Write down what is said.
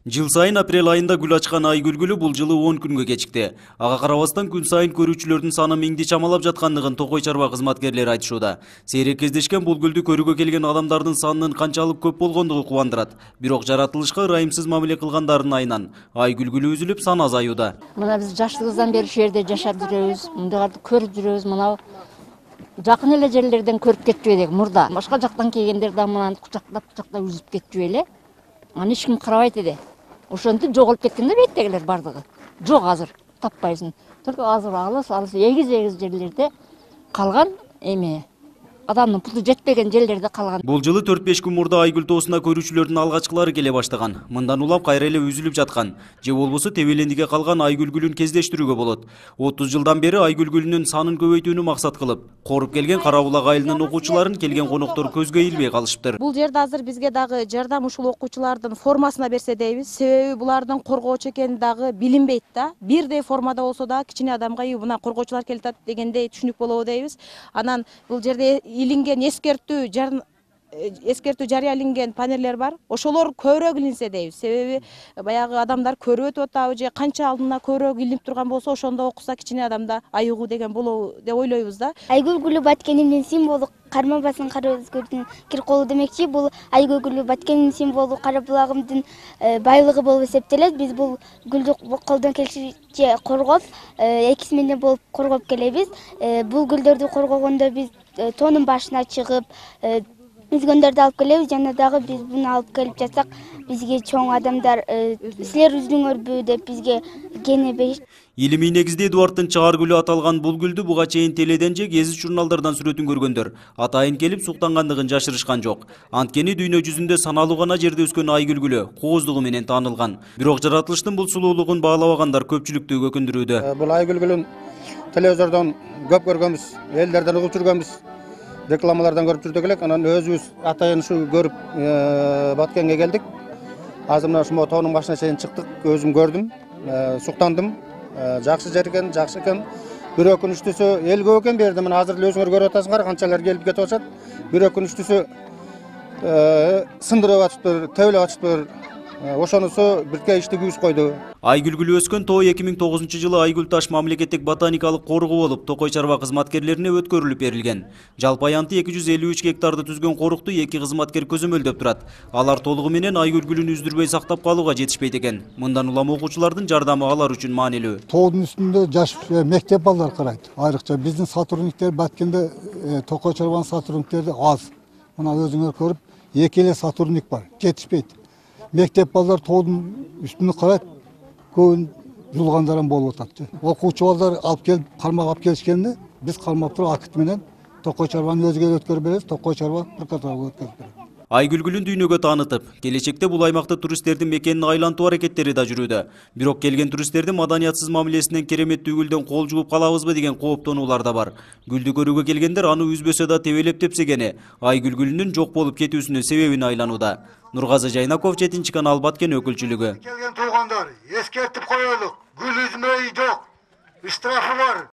Жыл сайын апрель айында гүл ачкан айгүл бул жылы 10 күнгө кечикти. Ага карабастан күн сайын көрүүчүлөрдүн саны миңди чамалап жаткандыгын Токой чарба кызматкерлери айтышууда. Сейрек кездешкен бул гүлдү көрүүгө келген адамдардын санынын канчалык көп болгондугу кубандырат. Бирок жаратылышка ырайымсыз мамиле кылгандардын айынан айгүл үзүлүп сан азаюуда. Мына биз жаштыгыбыздан бери ушул жерде жашап жүрөбүз, мындайларды көрүп жүрөбүз. Мына жакын эле жерлерден көрүп кетчү элек мурда. Башка жактан келгендер да мынаны кучактап үзүп кетчү эле. Аны эч ким карабайт эди. Ошентип жоголуп кеткенде беттегилер бардыгы. Жок азыр таппайсың. Только азыр алыс эгиз жерлерде калган эме. Адамдын пулу жетпеген жерлерде калган. Бул жылы 4-5 күн мурда айгүл тоосуна көрүүчүлөрдүн алгачкылары келе баштаган. Мындан улам кайра эле үзүлүп жаткан. Же болбосо тебелендиге калган айгүл гүлүн кездештирүүгө болот. 30 жылдан бери айгүл гүлүнүн санын көбөйтүүнү максат кылып, коруп келген Кара Булак айылынын окуучуларын келген коноктор көзгө илбей калышыптыр. Бул жерде азыр бизге дагы жардам ушул окуучулардын формасына берсе дейбиз. Себеби булардын коргоочу экени дагы билинбейт да. Бирдей формада болсо да кичине адамга мына коргоочулар келип атат дегендей түшүнүк болобу дейбиз. Анан бул жерде илинген эскертүү жарыяланген панелдер бар. Ошолор көбүрөөк илинсе дейбиз. Себеби баягы адамдар көрүп өтүп атабы же канча алдына көбүрөөк илинип турган болсо, ошондо окуса кичине адамда айыгуу деген болобу деп ойлойбуз да. Айгүл гүлү Баткендин символу карма басын кара өзгөрдүн кир колу демекчи. Бул айгүл гүлү Баткендин символу Кара Булагымдын байлыгы болуп эсептелет. Биз бул гүлдү колдон келишинче коргоп, экисименен болуп коргоп келебиз. Бул гүлдөрдү коргогондо биз тоонун башына чыгып, үзгөндөрдү алып келебиз. Жана дагы биз буну алып келип жатсак, бизге чоң адамдар силер үздүңөрбү деп бизге кене беришет. Илимий негизде Эдуарддын чаар гүлү аталган бул гүлдү буга чейин теледен же гезит журналдардан сүрөтүн көргөндөр атайын келип суктангандыгын жашырышкан жок. Анткени дүйнө жүзүндө саналуу гана жерде өскөн айгүл гүлү кооздугу менен таанылган. Бирок жаратылыштын бул сулуулугун баалабагандар көпчүлүктү өкүндүрүүдө. Бул айгүл гүлүн телевизордон көп көргөнбүз, элдерден угуп жүргөнбүз. Рекламалардан көрүп жүрдүк элек, анан өзүбүз атайын ушу көрүп Баткенге келдик. Азыр мына ушул тоонун башына чейин чыктык, өзүм көрдүм, суктандым. Жакшы жер экен, жакшы экен. Бир өкүнүчтүүсү эл көп экен берди. Мына азыр эле өзүңөр көрүп атасыңар, канчалар келип кетип атышат. Бир өкүнүчтүүсү сындырып атышыптыр, тебелеп атышыптыр. Ошонусу бирке иштигибиз койду. Айгүл гүлү өскөн тоо 2009 жылы Айгүл таш мамлекеттик ботаникалык коргоо болуп, Токой чарба кызматкерлерине өткөрүлүп берилген. Жалпы аянты 253 гектарды түзгөн корукту 2 кызматкер көзөмөлдөп турат. Алар толугу менен айгүл гүлүн үздүрбөй сактап калууга жетишпейт экен. Мындан улам окуучулардын жардамы алар үчүн маанилүү. Тоодун үстүндө жаш мектеп балдар карайт. Айрыкча биздин сотрудниктер Баткенде Токой чарбанын сотрудниктери аз. Мына өзүңөр көрүп, 2 эле сотрудник бар. Жетишпейт. Мектеп балдар тоодун үстүнө карайт, көбүн жулгандар болуп атат. Окуучу балдар алып келип, кармак алып келишкенде, биз кармап туруп акыт менен Токой чарбаны өзгө өткөрүп беребиз, Токой чарба прокуратурага өткөрүп беребиз. Айгүл гүлүн дүйнөгө таанытып, келечекте бул аймакта туристтердин мекенин айлантуу аракеттери да жүрүүдө. Бирок келген туристтердин маданиятсыз мамилесинен кереметтүү гүлдөн кол жууп калабызбы деген кооптонуулар да бар. Гүлдү көрүүгө келгендер аны үзбөсө да тебелеп тепсегени айгүл гүлүнүн жок болуп кетүүсүнүн себебин айланууда. Нургазы Жайнаков, 7 канал, Баткен өкүлчүлүгү. Келген туугандар, эскертип коелук. Гүл үзмөй жок. Штрафы бар.